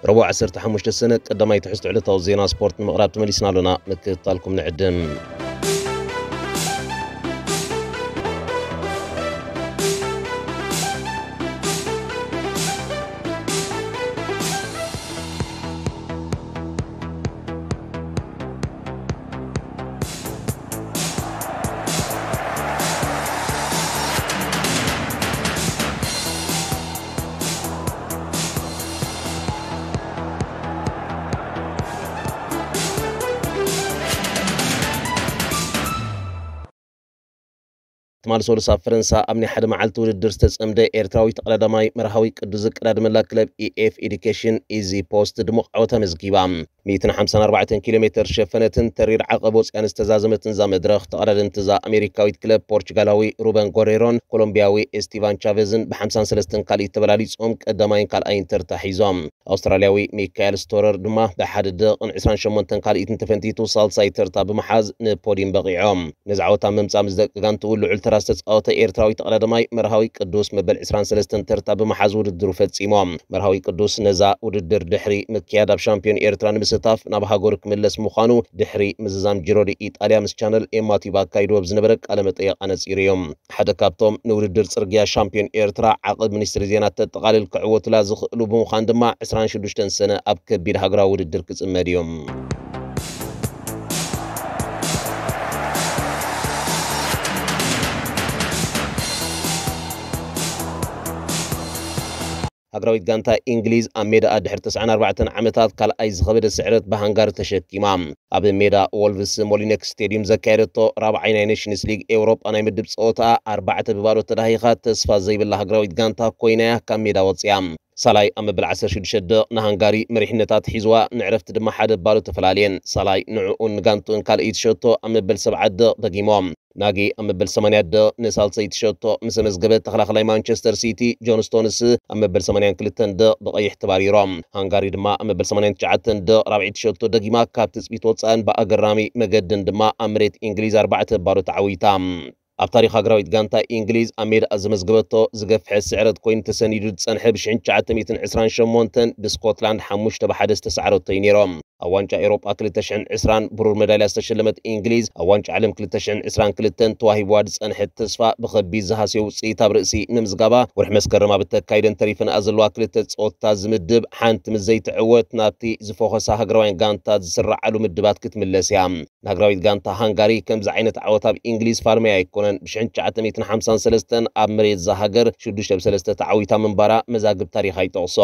ረቡዕ ዓሰርተ ሓሙሽተ ሰነ ቀዳማይ ትሕዝቶ ዕለታዊ ዜና ስፖርት ንምቕራብ ተመሊስና ኣሎና። ምክትታልኩም ንዕድም። ትማሊ ሰሉስ ኣብ ፈረንሳ ኣብ ናይ ሓደ መዓልቲ ውድድር ዝተጸምደ ኤርትራዊ ተቐዳዳማይ መርሃዊ ቅዱስ ዝቀዳደመላ ክለብ ኢኤፍ ኤዱኬሽን ኢዚ ፖስት ድሙቕ ዓወት ኣመዝጊባ። ሚእትን ሓምሳን ኣርባዕተን ኪሎ ሜተር ዝሸፈነትን ተሪር ዓቐብ ወጽያን ዝተዛዘመትን እዛ መድረኽ፣ ተቐዳደምቲ እዛ ኣሜሪካዊት ክለብ ፖርቹጋላዊ ሩበን ጎሬሮን ኮሎምቢያዊ ኤስቲቫን ቻቨዝን ብሓምሳን ሰለስተን ካልኢት ተበላሊጾም ቀዳማይን ካልኣይን ተርታ ሒዞም። ኣውስትራልያዊ ሚካኤል ስቶረር ድማ ብሓደ ደቕን ዕስራን ሸሞንተን ካልኢትን ተፈንቲቱ ሳልሳይ ተርታ ብምሓዝ ንፖዲም በቒዖም። ነዚ ዓወት ኣብ ምምጻእ ምስ ደቂ ጋንትኡ ልዑል ተራ ዝተጻወተ ኤርትራዊ ተቐዳዳማይ መርሃዊ ቅዱስ መበል ዕስራን ሰለስተን ተርታ ብምሓዝ ውድድሩ ፈጺሞም። መርሃዊ ቅዱስ ነዛ ውድድር ድሕሪ ምክያድ ኣብ ሻምፒዮን ኤርትራ ንምስታፍ ናብ ሃገሩ ክምለስ ምዃኑ ድሕሪ ምዝዛም ጂሮ ዲ ኢጣልያ ምስ ቻነል ኤም ኣቲባ ኣካይድዎ ኣብ ዝነበረ ቃለ መጠይቕ ኣነጺሩ እዩ። ሓደ ካብቶም ንውድድር ጽርግያ ሻምፒዮን ኤርትራ ዓቐብ ሚኒስትሪ ዜና ተጠቓልል ክዕወቱላ ዝኽእሉ ብምዃን ድማ ዕስራን ሽዱሽተን ሰነ ኣብ ከቢድ ሃገራዊ ውድድር ክጽመድ እዩ። ሃገራዊት ጋንታ እንግሊዝ ኣብ ሜዳኣ ድሕሪ ተስዓን ኣርባዕተን ዓመታት ካልኣይ ዝኸበደ ስዕረት ብሃንጋሪ ተሸኪማ። ኣብ ሜዳ ወልቭስ ሞሊነክስ ስቴድዩም ዘካየደቶ ራብዓይ ናይ ኔሽንስ ሊግ ኤውሮጳ ናይ ምድብ ጸወታ ኣርባዕተ ብባዶ ተዳሂኻ ተስፋ ዘይብላ ሃገራዊት ጋንታ ኮይናያ ካብ ሜዳ ወጽያ። ሳላይ ኣብ መበል ዓሰርተ ሽዱሽተ ደቕ ንሃንጋሪ መሪሕነታት ሒዝዋ ንዕረፍቲ ድማ ሓደ ባዶ ተፈላልየን። ሳላይ ንዕኡን ንጋንትኡን ካልኣይቲ ሸቶ ኣብ መበል ሰብዓ ደቕ ደጊሞም። ናጊ ኣብ መበል ሰማንያ ደቕ ንሳልሰይቲ ሸቶ ምስ ኣመዝገበ፣ ተኸላኸላይ ማንቸስተር ሲቲ ጆን ስቶንስ ኣብ መበል ሰማንያን ክልተን ደቕ ብቐይሕ ተባሪሮም። ሃንጋሪ ድማ ኣብ መበል ሰማንያን ትሽዓተን ደቕ ራብዐይቲ ሸቶ ደጊማ ካብ ትጽቢት ወጻእን ብኣገራሚ መገድን ድማ ኣብ መሬት እንግሊዝ ኣርባዕተ ባዶ ተዓዊታ። ኣብ ታሪኽ ሃገራዊት ጋንታ እንግሊዝ ኣብ ሜዳኣ ዘመዝገበቶ ዝገፍሐ ስዕረት ኮይኑ ተሰኒዱ ዝጸንሐ ብሽሕን ትሽዓተ ሚእትን ዕስራን ሸሞንተን ብስኮትላንድ ሓሙሽተ ብሓደ ዝተሳዕረቶ እዩ ነይሮም። ኣብ ዋንጫ ኤውሮጳ ክልተ ሽሕን ዕስራን ብሩር መዳልያ ዝተሸለመት እንግሊዝ፣ ኣብ ዋንጫ ዓለም ክልተ ሽሕን ዕስራን ክልተን ተዋሂብዋ ዝጸንሐት ተስፋ ብኸቢድ ዝሃስዮ ውጽኢት ኣብ ርእሲ ምምዝጋባ፣ ወርሒ መስከረም ኣብ እተካይደን ተሪፈንኣ ዘለዋ ክልተ ጸወታ ዝምድብ ሓንቲ ምስ ዘይትዕወት ናብቲ ዝፈኾሳ ሃገራውያን ጋንታት ዝስረዓሉ ምድባት ክትምለስ እያ። ንሃገራዊት ጋንታ ሃንጋሪ ከምዚ ዓይነት ዓወት ኣብ እንግሊዝ ፋልመያ ኣይኮነን። ብሽሕን ትሽዓተ ሚእትን ሓምሳን ሰለስተን ኣብ መሬት እዛ ሃገር ሽዱሽተ ብ ሰለስተ ተዓዊታ ምንባራ መዛግብ ታሪኻ ይጠቕሶ።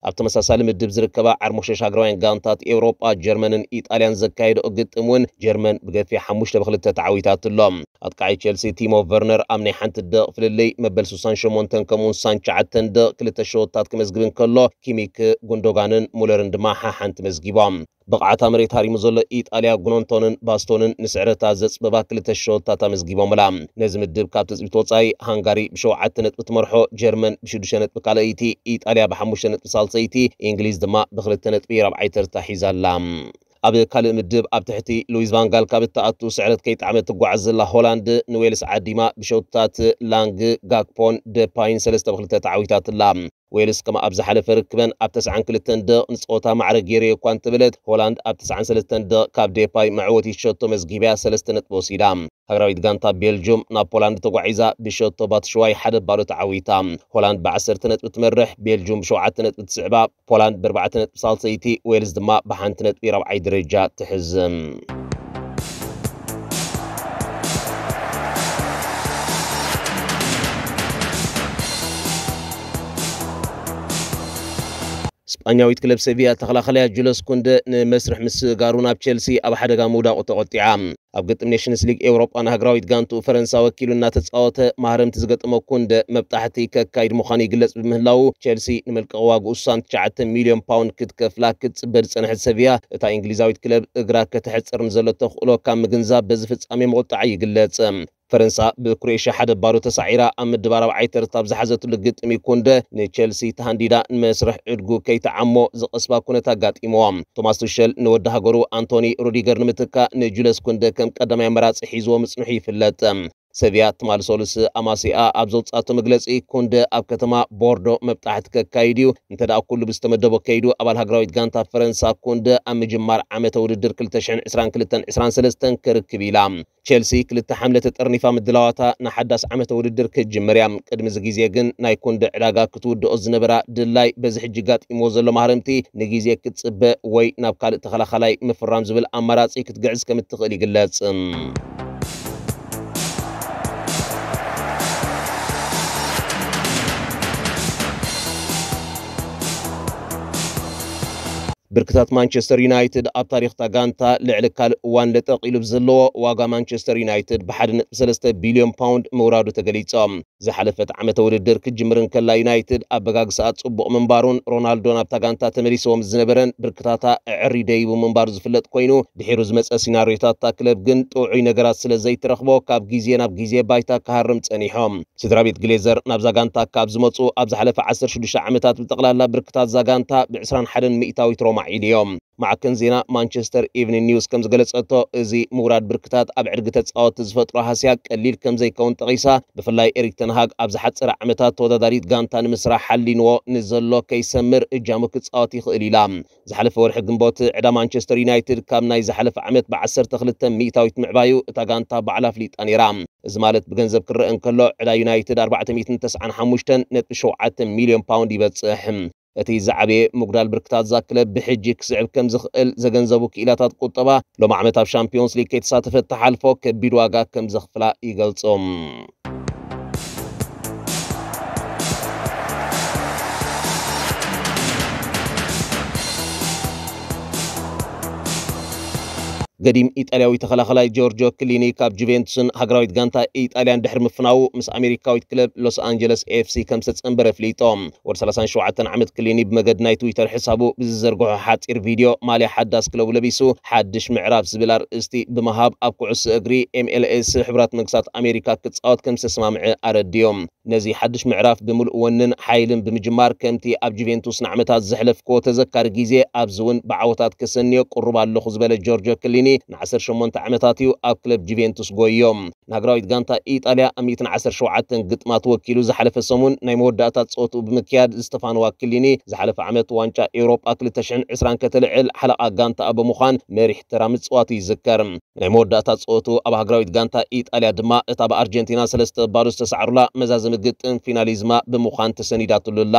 ኣብ ተመሳሳሊ ምድብ ዝርከባ ዓርሞሸሽ ሃገራውያን ጋንታት ኤውሮጳ፣ ጀርመንን ኢጣልያን ዘካየደኦ ግጥም እውን ጀርመን ብገፊሕ ሓሙሽተ ብ ክልተ ተዓዊታትሎም። ኣጥቃዓይ ቸልሲ ቲሞ ቨርነር ኣብ ናይ ሓንቲ ደቕ ፍልልይ መበል ስሳን ሸሞንተን ከምኡውን ስሳን ትሽዓተን ደቕ ክልተ ሸወታት ክመዝግብ እንከሎ፣ ኪሚክ፣ ጉንዶጋንን ሙለርን ድማ ሓሓንቲ መዝጊቦም። ብቕዓታ መሬት ሃሪሙ ዘሎ ኢጣልያ፣ ጉኖንቶንን ባስቶንን ንስዕረታ ዘጽበባ ክልተ ሸወታት ኣመዝጊቦምላ። ነዚ ምድብ ካብ ትጽቢት ወጻኢ፣ ሃንጋሪ ብሸውዓተ ነጥቢ ትመርሖ፣ ጀርመን ብሽዱሽተ ነጥቢ ካልኣይቲ፣ ኢጣልያ ብሓሙሽተ ነጥቢ ሳልሰይቲ፣ እንግሊዝ ድማ ብኽልተ ነጥቢ ራብዓይ ተርታ ሒዛ ኣላ። ኣብ ካልእ ምድብ ኣብ ትሕቲ ሉዊስ ቫንጋል ካብ እትኣቱ ስዕረት ከይጠዓመት ትጓዓዝ ዘላ ሆላንድ ንዌልስ ዓዲማ ብሸውታት ላንግ፣ ጋክፖን ደፓይን ሰለስተ ብ ክልተ ተዓዊታትላ። ዌልስ ከም ኣብ ዝሓለፈ ርክበን ኣብ ተስዓን ክልተን ደቕ ንጸወታ ማዕረ ገይረዮ እኳ እንተበለት፣ ሆላንድ ኣብ ተስዓን ሰለስተን ደቕ ካብ ዴፓይ መዕወቲ ሸቶ መዝጊብያ ሰለስተ ነጥቢ ወሲዳ። ሃገራዊት ጋንታ ቤልጁም ናብ ፖላንድ ተጓዒዛ ብሸቶ ባትሽዋይ ሓደ ባዶ ተዓዊታ። ሆላንድ ብዓሰርተ ነጥቢ ትመርሕ፣ ቤልጁም ብሸውዓተ ነጥቢ ትስዕባ፣ ፖላንድ ብኣርባዕተ ነጥቢ ሳልሰይቲ፣ ዌልስ ድማ ብሓንቲ ነጥቢ ራብዓይ ደረጃ ትሕዝ። ስጳኛዊት ክለብ ሴቪያ ተኸላኸላያ ጁለስ ኩንደ ንመስርሕ ምስጋሩ ናብ ቸልሲ ኣብ ሓደጋ ምውዳቑ ተቖጢዓ። ኣብ ግጥም ኔሽንስ ሊግ ኤውሮጳ ንሃገራዊት ጋንቱ ፈረንሳ ወኪሉ እናተጻወተ ማህረምቲ ዝገጠሞ ኩንደ መብጣሕቲ ከካይድ ምዃኑ ይግለጽ ብምህላዉ፣ ቸልሲ ንመልቀቒ ዋግኡ ስሳን ትሽዓተ ሚልዮን ፓውንድ ክትከፍላ ክትጽበ ዝጸንሐት ሰቪያ፣ እታ እንግሊዛዊት ክለብ እግራ ከተሕጽር ንዘሎ ተኽእሎ ካብ ምግንዛብ በዚ ፍጻሜ ምቑጣዓ ይግለጽ። ፈረንሳ ብክሮኤሽያ ሓደ ባዶ ተሳዒራ ኣብ ምድብ ኣርባዓይ ተርታ ኣብ ዝሓዘትሉ ግጥም ኩንደ ንቸልሲ ተሃንዲዳ ንመስርሕ ዕድጉ ከይተዓሞ ዝቐስባ ኩነት ኣጋጢምዎ። ቶማስ ቱሸል ንወዲ ሃገሩ ኣንቶኒ ሩዲገር ንምትካእ ንጁለስ ኩንደ ከም ቀዳማይ ኣመራጺ ሒዝዎ ምጽንሑ ይፍለጥ። ሰብያ ትማሊ ሰሉስ ኣማሲኣ ኣብ ዘውጻቶ መግለጺ፣ ኩንደ ኣብ ከተማ ቦርዶ መብጣሕቲ ከካይድ እዩ። እንተ ደኣ ኩሉ ብዝተመደቦ ከይዱ፣ ኣባል ሃገራዊት ጋንታ ፈረንሳ ኩንደ ኣብ ምጅማር ዓመተ ውድድር ክልተ ሽሕን ዕስራን ክልተን ዕስራን ሰለስተን ክርክብ ኢላ። ቸልሲ ክልተ ሓምለ ተጠርኒፋ ምድላዋታ ንሓዳስ ዓመተ ውድድር ክትጅምር እያ። ቅድሚ እዚ ግዜ ግን ናይ ኩንደ ዕዳጋ ክትውድኦ ዝነበራ ድላይ በዚ ሕጂ ጋጢምዎ ዘሎ ማህረምቲ ንግዜ ክትጽበ ወይ ናብ ካልእ ተኸላኻላይ ምፍራም ዝብል ኣማራጺ ክትግዕዝ ከም እትኽእል ይግለጽ። ብርክታት ማንቸስተር ዩናይትድ ኣብ ታሪኽታ ጋንታ ልዕሊ ካልእ እዋን ለጠቕ ኢሉ ብዘለዎ ዋጋ ማንቸስተር ዩናይትድ ብ ሓደ ነጥቢ ሰለስተ ቢልዮን ፓውንድ ምውራዱ ተገሊጾም። ዝሓለፈት ዓመተ ውድድር ክትጅምር እንከላ ዩናይትድ ኣበጋግስኣ ጽቡቕ ምንባሩን ሮናልዶ ናብታ ጋንታ ተመሊስዎ ምስ ዝነበረን ብርክታታ ኣዐሪ ደይቡ ምንባሩ ዝፍለጥ ኮይኑ፣ ድሒሩ ዝመጸ ሲናርዮታት እታ ክለብ ግን ጥዑይ ነገራት ስለ ዘይትረኽቦ ካብ ግዜ ናብ ግዜ ባይታ ክሃርም ጸኒሖም። ስድራ ቤት ግሌዘር ናብዛ ጋንታ ካብ ዝመጹ ኣብ ዝሓለፈ ዓሰርተ ሽዱሽተ ዓመታት ብጠቕላላ ብርክታት እዛ ጋንታ ብ ዕስራን ሓደን ሚእታዊት ሮማዕ ኢልዮም። ማዕከን ዜና ማንቸስተር ኢቭኒንግ ኒውስ ከም ዝገለጸቶ፣ እዚ ምውራድ ብርክታት ኣብ ዕድጊ ተጻወትቲ ዝፈጥሮ ሃስያ ቀሊል ከም ዘይከውን ጠቒሳ፣ ብፍላይ ኤሪክ ተንሃግ ኣብ ዝሓጸረ ዓመታት ተወዳዳሪት ጋንታ ንምስራሕ ሓሊንዎ ንዘሎ ከይሰምር እጃሙ ክጻወት ይኽእል ኢላ። ዝሓለፈ ወርሒ ግንቦት ዕዳ ማንቸስተር ዩናይትድ ካብ ናይ ዝሓለፈ ዓመት ብ ዓሰርተ ክልተ ሚእታዊት ምዕባዩ እታ ጋንታ ባዕላ ኣፍሊጣ ነይራ። እዚ ማለት ብገንዘብ ክረአ እንከሎ ዕዳ ዩናይትድ ኣርባዕተ ሚእትን ተስዓን ሓሙሽተን ነጥቢ ሸውዓተ ሚልዮን ፓውንድ ይበጽሕ። እቲ ዝዓበየ ምጉዳል ብርክታት እዛ ክለብ ብሕጂ ክስዕብ ከም ዝኽእል ዘገንዘቡ ክኢላታት ቁጠባ፣ ሎም ዓመት ኣብ ሻምፒዮንስ ሊግ ከይተሳተፈት ትሓልፎ ከቢድ ዋጋ ከም ዘኽፍላ ይገልጹ። ገዲም ኢጣልያዊ ተኸላኸላይ ጆርጆ ክሊኒ ካብ ጁቬንቱስን ሃገራዊት ጋንታ ኢጣልያን ድሕሪ ምፍናዉ፣ ምስ ኣሜሪካዊት ክለብ ሎስ ኣንጀለስ ኤፍ ሲ ከም ዝተጸንበረ ኣፍሊጦ። ወዲ ሰላሳን ሸውዓተን ዓመት ክሊኒ ብመገዲ ናይ ትዊተር ሕሳቡ ብዝዘርግሖ ሓጺር ቪድዮ፣ ማልያ ሓዳስ ክለቡ ለቢሱ፣ ሓድሽ ምዕራፍ ዝብል ኣርእስቲ ብምሃብ፣ ኣብ ኩዕሶ እግሪ ኤም ኤል ኤስ ሕቡራት መንግስታት ኣሜሪካ ክጻወት ከም ዝተስማምዐ ኣረድዮም። ነዚ ሓድሽ ምዕራፍ ብምሉእ ወንን ሓይልን ብምጅማር፣ ከምቲ ኣብ ጁቬንቱስ ንዓመታት ዘሕለፍክዎ ተዘካሪ ግዜ ኣብዚ እውን ብዓወታት ከሰንዮ ቅሩብ ኣለኹ ዝበለ ጆርጆ ክሊኒ፣ ን ዓሰርተ ሸሞንተ ዓመታት እዩ ኣብ ክለብ ጁቬንቱስ ጎይዮ። ንሃገራዊት ጋንታ ኢጣልያ ኣብ ሚእትን ዓሰርተ ሸውዓተን ግጥማት ወኪሉ ዝሓለፈ ሰሙን ናይ መወዳእታ ጸወትኡ ብምክያድ ዝተፋነዋ ክሊኒ፣ ዝሓለፈ ዓመት ዋንጫ ኤውሮጳ ክልተ ሽሕን ዕስራን ከተልዕል ሓለቓ ጋንታኣ ብምዃን መሪሕ ተራ ምጽዋቱ ይዝከር። ናይ መወዳእታ ጸወትኡ ኣብ ሃገራዊት ጋንታ ኢጣልያ ድማ እታ ብኣርጀንቲና ሰለስተ ባዶ ዝተሳዕሩላ መዛዘሚ ግጥም ፊናሊዝማ ብምዃን ተሰኒዳትሉ ኣላ።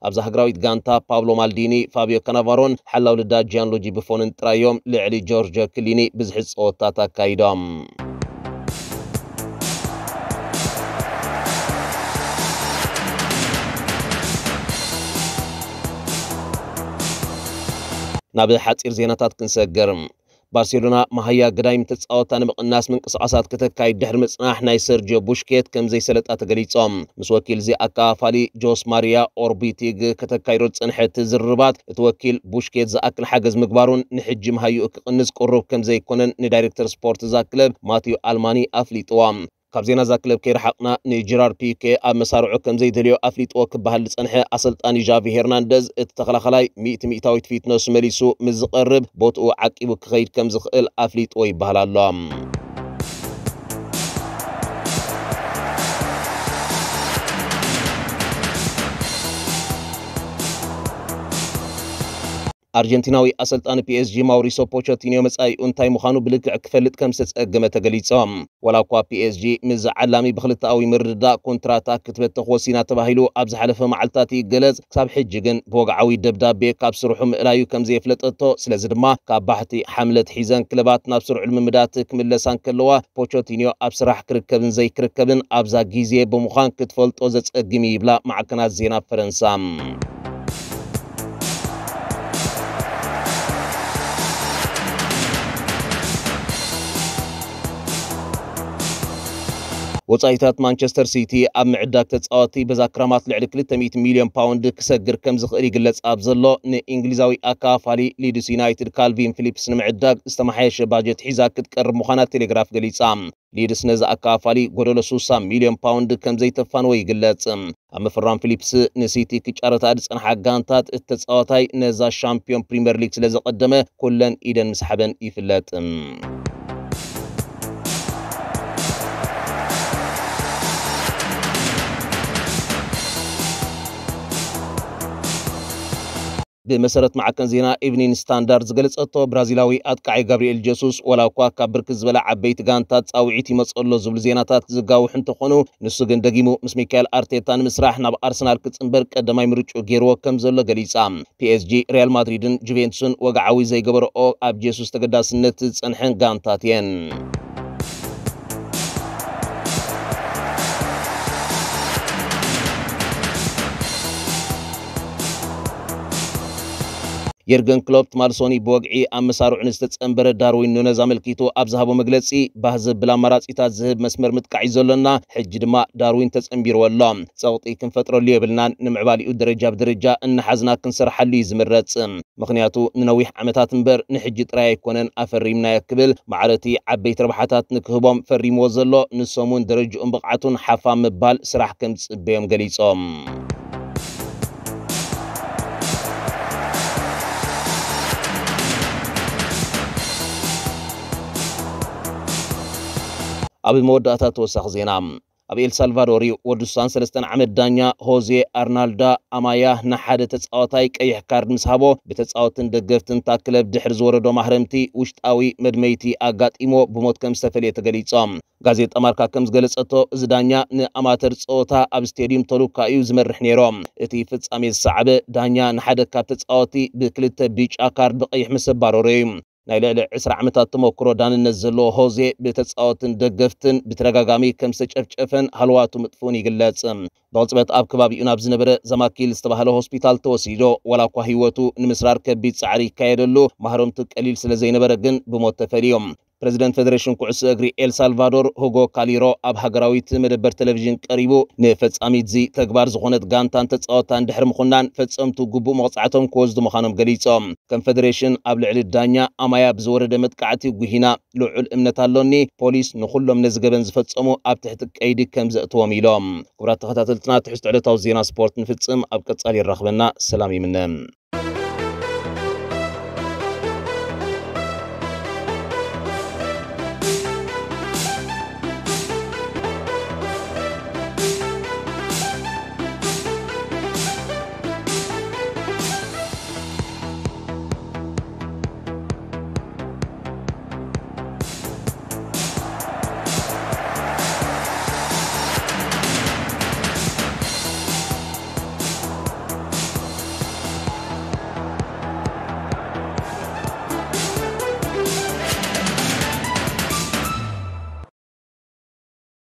ኣብዛ ሃገራዊት ጋንታ ፓብሎ ማልዲኒ፣ ፋቢዮ ካናቫሮን ሓላው ልዳ ጂያንሉጂ ብፎንን ጥራይ እዮም ልዕሊ ጆርጆ ክሊኒ ብዝሒ ጸወታት ኣካይዶም። ናብ ሓጺር ዜናታት ክንሰግር። ባርሴሎና መሃያ ግዳይም ተጻወታ ንምቕናስ ምንቅስቓሳት ከተካይድ ድሕሪ ምጽናሕ፣ ናይ ሰርጂዮ ቡሽኬት ከም ዘይሰለጣ ተገሊጾም። ምስ ወኪል እዚ ኣካፋሊ ጆስ ማሪያ ኦርቢቲግ ከተካይዶ ዝጸንሐት ዝርርባት፣ እቲ ወኪል ቡሽኬት ዝኣክል ሓገዝ ምግባሩን ንሕጂ መሃይኡ ክቕንስ ቅሩብ ከም ዘይኮነን ንዳይሬክተር ስፖርት እዛ ክለብ ማቲዩ ኣልማኒ ኣፍሊጥዋ። ካብ ዜና እዛ ክለብ ከይረሓቕና፣ ንጀራርድ ፒኬ ኣብ መሳርዑ ከም ዘይደልዮ ኣፍሊጥዎ ክበሃል ዝጸንሐ ኣሰልጣኒ ዣቪ ሄርናንደዝ፣ እቲ ተኸላኸላይ ሚእቲ ሚእታዊት ፊትነሱ መሊሱ ምስ ዝቐርብ፣ ቦትኡ ዓቂቡ ክኸይድ ከም ዝኽእል ኣፍሊጥዎ ይበሃል ኣሎ። ኣርጀንቲናዊ ኣሰልጣኒ ፒ ኤስ ጂ ማውሪሶ ፖቸቲኒዮ መጻኢኡ እንታይ ምዃኑ ብልክዕ ክፈልጥ ከም ዝተጸገመ ተገሊጹ። ዋላ እኳ ፒ ኤስ ጂ ምስ ዓላሚ ብክልተኣዊ ምርድዳእ ኮንትራታ ክትበተኽ ወሲና ተባሂሉ ኣብ ዝሓለፈ መዓልታት ይገለጽ፣ ክሳብ ሕጂ ግን ብወግዓዊ ደብዳቤ ካብ ስርሑ ምእላዩ ከም ዘየፍለጠቶ፣ ስለዚ ድማ ካብ ባሕቲ ሓምለት ሒዘን ክለባት ናብ ስሩዕ ልምምዳት ክምለሳ እንከለዋ፣ ፖቸቲኒዮ ኣብ ስራሕ ክርከብን ዘይክርከብን ኣብዛ ግዜ ብምዃን ክትፈልጦ ዘጸግም እዩ ይብላ ማዕከናት ዜና ፈረንሳ። ወጻኢታት ማንቸስተር ሲቲ ኣብ ምዕዳግ ተጻወቲ በዛ ክራማት ልዕሊ ክልተ ሚእቲ ሚልዮን ፓውንድ ክሰግር ከም ዝኽእል ይግለጽ ኣብ ዘሎ፣ ንእንግሊዛዊ ኣካፋሊ ሊድስ ዩናይትድ ካልቪን ፊሊፕስ ንምዕዳግ ዝተመሓየሸ ባጀት ሒዛ ክትቀርብ ምዃና ቴሌግራፍ ገሊጻ። ሊድስ ነዚ ኣካፋሊ ጎደሎ ስሳ ሚልዮን ፓውንድ ከም ዘይተፋንዎ ይግለጽ። ኣብ ምፍራም ፊሊፕስ ንሲቲ ክጫረታ ዝጸንሓ ጋንታት፣ እቲ ተጻዋታይ ነዛ ሻምፒዮን ፕሪምየር ሊግ ስለ ዘቐደመ፣ ኩለን ኢደን ምስሓበን ይፍለጥ። ብመሰረት ማዕከን ዜና ኢቭኒን ስታንዳርድ ዝገለጸቶ፣ ብራዚላዊ ኣጥቃዒ ጋብሪኤል ጀሱስ ዋላ እኳ ካብ ብርክት ዝበላ ዓበይቲ ጋንታት ጻውዒት ይመጽእ ኣሎ ዝብሉ ዜናታት ዝጋውሑ እንተኾኑ፣ ንሱ ግን ደጊሙ ምስ ሚካኤል ኣርቴታ ንምስራሕ ናብ ኣርሰናል ክጽንበር ቀዳማይ ምርጭኡ ገይርዎ ከም ዘሎ ገሊጻ። ፒኤስጂ፣ ሪያል ማድሪድን ጁቬንቱስን ወግዓዊ ዘይገበረኦ ኣብ ጀሱስ ተገዳስነት ዝጸንሐን ጋንታት እየን። የርገን ክሎፕ ትማል ሶኒ ብወግዒ ኣብ መሳርዑ ንዝተጸንበረ ዳርዊን ኑነዝ ኣመልኪቱ ኣብ ዝሃቦ መግለጺ፣ ባህ ዘብል ኣማራጺታት ዝህብ መስመር ምጥቃዕ እዩ ዘሎና፣ ሕጂ ድማ ዳርዊን ተጸንቢርዎ ኣሎ። ጸቕጢ ክንፈጥረሉ የብልናን፣ ንምዕባሊኡ ደረጃ ብደረጃ እናሓዝና ክንሰርሓሉ እዩ ዝምረጽ። ምኽንያቱ ንነዊሕ ዓመታት እምበር ንሕጂ ጥራይ ኣይኮነን ኣፈሪምናዮ ክብል፣ ማዕረቲ ዓበይቲ ረብሓታት ንክህቦም ፈሪምዎ ዘሎ፣ ንሶም እውን ደረጅኡን ብቕዓቱን ሓፋ ምባል ስራሕ ከም ዝጽበዮም ገሊጾም። ኣብ መወዳእታ ተወሳኺ ዜና። ኣብ ኤልሳልቫዶር እዩ። ወዲ ሱሳን ሰለስተን ዓመት ዳኛ ሆዜ ኣርናልዳ ኣማያ ንሓደ ተጻዋታይ ቀይሕ ካርድ ምስ ሃቦ፣ ብተጻወትን ደገፍትን እታ ክለብ ድሕሪ ዝወረዶ ማህረምቲ ውሽጣዊ መድመይቲ ኣጋጢሞ ብሞት ከም ዝተፈልየ ተገሊጾም። ጋዜጣ ማርካ ከም ዝገለጸቶ፣ እዚ ዳኛ ንኣማተር ጸወታ ኣብ ስቴድዩም ተሉካ እዩ ዝመርሕ ነይሮ። እቲ ፍጻሜ ዝሰዓበ፣ ዳኛ ንሓደ ካብ ተጻወቲ ብክልተ ቢጫ ካርድ ብቐይሕ ምስ ኣባረሮ እዩ። ናይ ልዕሊ ዕስራ ዓመታት ተመክሮ ዳንነት ዘለዎ ሆዜ፣ ብተጻወትን ደገፍትን ብተደጋጋሚ ከም ዝተጨፍጨፈን ሃለዋቱ ምጥፍኡን ይግለጽ። ብቕጽበት ኣብ ከባቢኡ ናብ ዝነበረ ዛማኪል ዝተባህለ ሆስፒታል ተወሲዶ፣ ዋላ እኳ ህይወቱ ንምስራር ከቢድ ጻዕሪ ይካየደሉ፣ ማህረምቱ ቀሊል ስለ ዘይነበረ ግን ብሞት ተፈልዮም። ፕረዚደንት ፌደሬሽን ኩዕሶ እግሪ ኤል ሳልቫዶር ሁጎ ካሊሮ ኣብ ሃገራዊት መደበር ቴሌቪዥን ቀሪቡ፣ ንፈጻሚት እዚ ተግባር ዝኾነት ጋንታን ተጻወታን ድሕሪ ምኹናን፣ ፈጸምቱ ግቡእ መቕጻዕቶም ክወስዱ ምዃኖም ገሊጾም። ከም ፌደሬሽን ኣብ ልዕሊ ዳኛ ኣማያ ብዝወረደ መጥቃዕቲ ጉሂና ልዑል እምነት ኣሎኒ። ፖሊስ ንኹሎም ነዚ ገበን ዝፈጸሙ ኣብ ትሕቲ ቀይዲ ከም ዘእትዎም ኢሎም። ክቡራት ተኸታተልትና፣ ትሕዝቶ ዕለታዊ ዜና ስፖርት ንፍጽም። ኣብ ቀጻሊ ይራኽበና። ሰላም ይምነ።